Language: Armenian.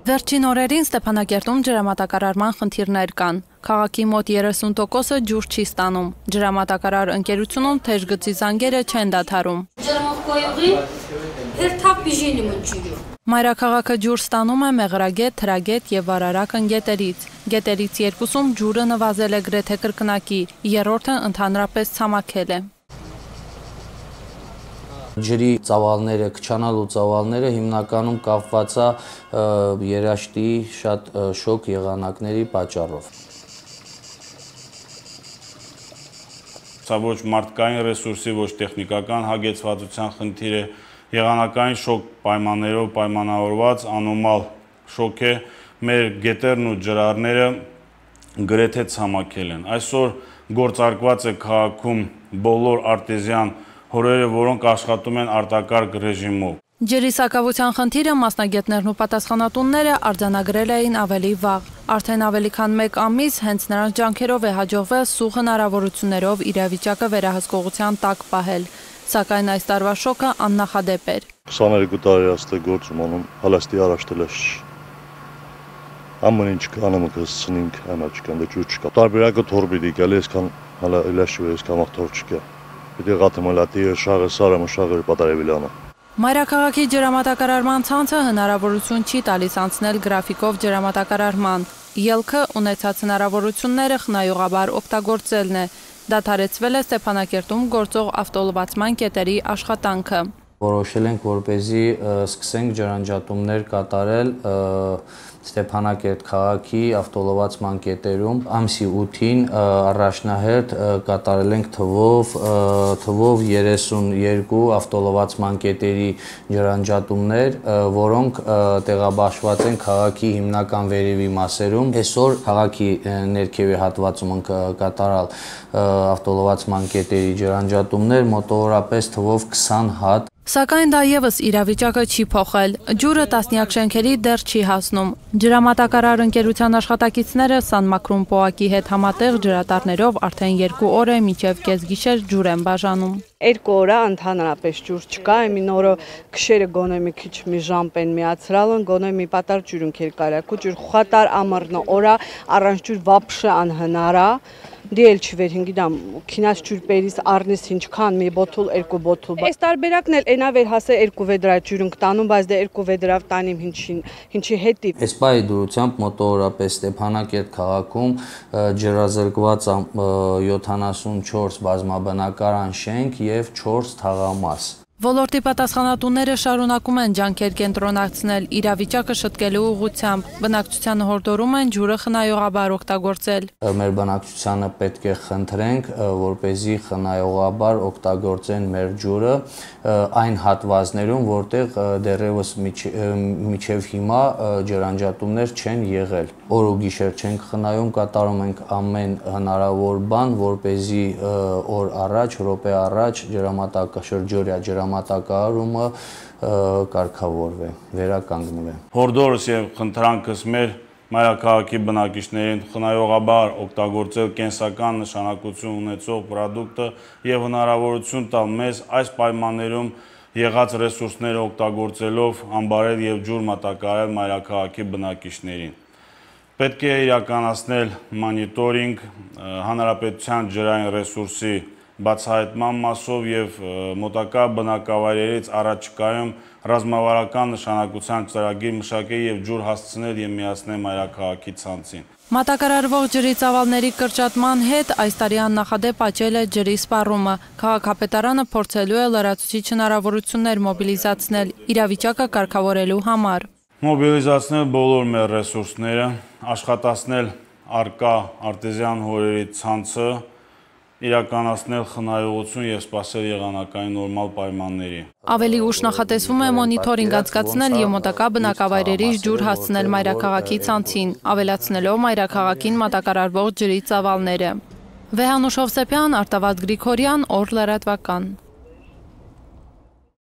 Վերջին օրերին Ստեփանակերտում ջրամատակարարման խնդիրներ կան։ Քաղաքի մոտ 30%-ը ջուր չի ստանում։ Ջրամատակարար ընկերությունում թեժ գծի զանգերը չեն դադարում։ Մայրաքաղաքը ջուր ստանում է Մեղրագետ, Թրագետ եւ Վարարական գետերից։ Գետերից երկուսում ջուրը նվազել է գրեթե կրկնակի, երրորդը ընդհանրապես ցամաքել է։ Ջրի ծավալները, քչանալու ծավալները հիմնականում կապված է երաշտի շատ շոգ եղանակների պատճառով։ Սա ոչ մարդկային ռեսուրսի, ոչ տեխնիկական հագեցվածության խնդիր է, եղանակային շոգ պայմաններով պայմանավորված անոմալ շոգ է, մեր գետերն ու ջրարները գրեթե ցամաքել են։ Այսօր գործարկված է քաղաքում բոլոր արտեզյան հորերը, որոնք աշխատում են արտակարգ ռեժիմով։ Ջրի սակավության խնդիրը մասնագետներն ու պատասխանատունները արձանագրել էին ավելի վաղ։ Արդեն ավելի քան 1 ամիս հենց նրանց ջանքերով է հաջողվել սուղ հնարավորություններով իրավիճակը վերահսկողության տակ պահել։ Սակայն այս տարվա շոկը աննախադեպ էր։ 22 տարի աստե գործում անում, հալաստի առաջտելաշ։ Ամեն ինչ կանում կսցնենք, անաչկան դե ջուր չկա։ Տարբերակը թոր պիտի գալի, այսքան հալա իլաշու այսքան թոր չկա։ Պիտի գաթմալատի շաղը սարը մշաղը պատարևիլանը։ Մայրաքաղաքի ջրամատակարարման ցանցը հնարավորություն չի տալիս անցնել գրաֆիկով ջրամատակարարման։ Ելքը ունեցած հնարավորությունները խնայողաբար օգտագործելն է։ Դադարեցվել է Ստեփանակերտում գործող ավտոլվացման կետերի աշխատանքը։ Որոշել ենք, որպեսզի սկսենք ջրանջատումներ կատարել Ստեփանակերտ քաղաքի ավտոլվացման կետերում։ Ամսի 8-ին առաջնահերթ կատարել ենք թվով 32 ավտոլվացման կետերի ջրանջատումներ, որոնք տեղաբաշխված են քաղաքի հիմնական վերևի մասերում։ Այսօր քաղաքի ներքևի հատվածում կատարալ ավտոլվացման կետերի ջրանջատումներ մոտավորապես թվով 20 հատ։ Սակայն դա եւս իրավիճակը չի փոխել։ Ջուրը տասնյակ շենքերի դեռ չի հասնում։ Ջրամատակարար ընկերության աշխատակիցները Սանմակրուն պոակի հետ համատեղ ջրատարներով արդեն 2 օր է մինչև կեսգիշեր ջուր են բաժանում։ 2 օր ընդհանրապես ջուր չկա, եմին օրը քշերը գոնե մի քիչ մի ժամ են միացրալն, գոնե մի պատար ջուրünk էր կարակու ջուր խատար ամռնը օրա առանց ջուր վապշը անհնարա։ Դիել չվեր հինգիդամ քինած ջուրպերից առնես ինչքան մի բոթուլ 2 բոթուլ։ Այս տարբերակն էլ այնա վեր հասե 2 վեդրա ջուրünk տանում, բայց դե 2 վեդրավ տանիմ ինչի հետի։ Այս պահի դրությամբ մոտավորապես Ստեփանակերտ քաղաքում ջրազրկված 74 բազմաբնակարան շենք եւ 4 թաղամաս։ Ոլորտի պատասխանատուները շարունակում են ջանքեր կենտրոնացնել իրավիճակը շտկելու ուղղությամբ։ Բնակչությանը հորդորում են ջուրը խնայողաբար օգտագործել։ Մեր բնակչությանը պետք է խնդրենք, որպեսզի խնայողաբար օգտագործեն մեր ջուրը այն հատվածներում, որտեղ դեռևս մինչև հիմա ջրանջատումներ չեն եղել։ Օր ու գիշեր չենք խնայում, կատարում ենք ամեն հնարավոր բան, որպեսզի օր առաջ, րոպե առաջ շրջօրյա ջրամատակարարումը կարգավորվի, վերականգնվի։ Հորդորս եւ խնդրանքս մեր մայրաքաղաքի բնակիչներին խնայողաբար օգտագործել կենսական նշանակություն ունեցող պրոդուկտը եւ հնարավորություն տալ մեզ այս պայմաններում եղած ռեսուրսները օգտագործելով ամբարել եւ ջուր մատակարարել մայրաքաղաքի բնակիչներին։ Պետք է իրականացնել մոնիտորինգ հանրապետության ջրային ռեսուրսի բացահայտման մասով եւ մոտակա բնակավայրերից առաջիկայում ռազմավարական նշանակության ծրագիր մշակել եւ ջուր հասցնել եւ միացնել մայրաքաղաքի ցանցին։ Մատակարարվող ջրի ծավալների կրճատման հետ այս տարի աննախադեպ աճել է ջրի սպառումը։ Քաղաքապետարանը փորձելու է լրացուցիչ հնարավորություններ մոբիլիզացնել իրավիճակը կարգավորելու համար։ Մոբիլիզացնել բոլոր մեր ռեսուրսները, աշխատացնել արկա արտեզյան հորերի ցանցը, իրականացնել խնայողություն եւ սպասել եղանակային նորմալ պայմանների։ Ավելի ուշ նախատեսվում է մոնիտորինգ անցկացնել եւ մոտակա բնակավայրերից ջուր հասցնել մայրաքաղաքի ցանցին, ավելացնելով մայրաքաղաքին մատակարարվող ջրի ծավալները։ Վեհանուշ Հովսեփյան, Արտավազդ Գրիգորյան, Օր լրատվական։